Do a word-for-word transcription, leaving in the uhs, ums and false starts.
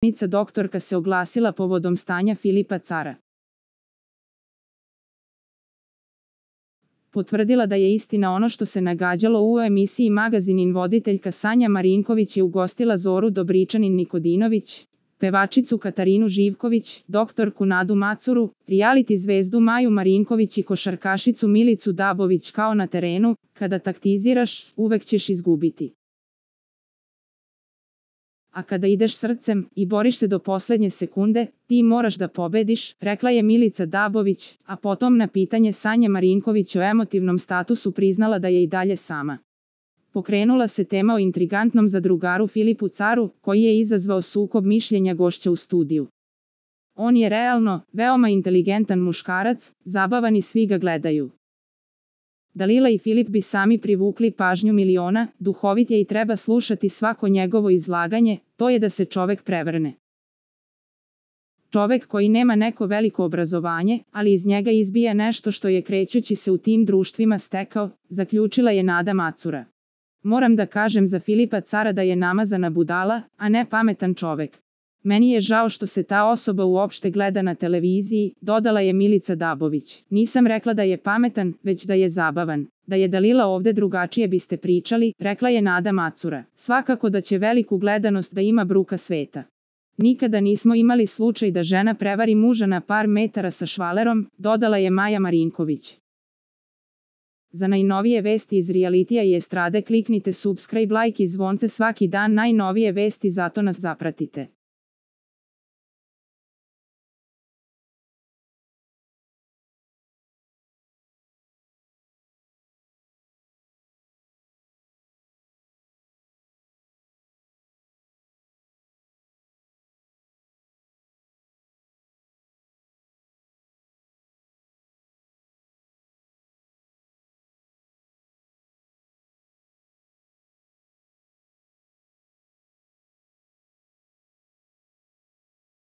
Nica doktorka se oglasila povodom stanja Filipa Cara. Potvrdila da je istina ono što se nagađalo u emisiji Magazinin. Voditeljka Sanja Marinković je ugostila Zoru Dobričanin Nikodinović, pevačicu Katarinu Živković, doktorku Nadu Macuru, reality zvezdu Maju Marinković i košarkašicu Milicu Dabović. Kao na terenu, kada taktiziraš, uvek ćeš izgubiti. A kada ideš srcem i boriš se do poslednje sekunde, ti moraš da pobediš, rekla je Milica Dabović, a potom na pitanje Sanje Marinković o emotivnom statusu priznala da je i dalje sama. Pokrenula se tema o intrigantnom zadrugaru Filipu Caru, koji je izazvao sukob mišljenja gošća u studiju. On je realno, veoma inteligentan muškarac, zabavan i svi ga gledaju. Dalila i Filip bi sami privukli pažnju miliona, duhovit je i treba slušati svako njegovo izlaganje, to je da se čovek prevrne. Čovek koji nema neko veliko obrazovanje, ali iz njega izbija nešto što je krećući se u tim društvima stekao, zaključila je Nada Macura. Moram da kažem za Filipa Cara da je namazana budala, a ne pametan čovek. Meni je žao što se ta osoba uopšte gleda na televiziji, dodala je Milica Dabović. Nisam rekla da je pametan, već da je zabavan. Da je Dalila ovde drugačije biste pričali, rekla je Nada Macura. Svakako da će veliku gledanost da ima bruka sveta. Nikada nismo imali slučaj da žena prevari muža na par metara sa švalerom, dodala je Maja Marinković. Za najnovije vesti iz realitija i estrade kliknite subscribe, like i zvonce svaki dan. Najnovije vesti, zato nas zapratite.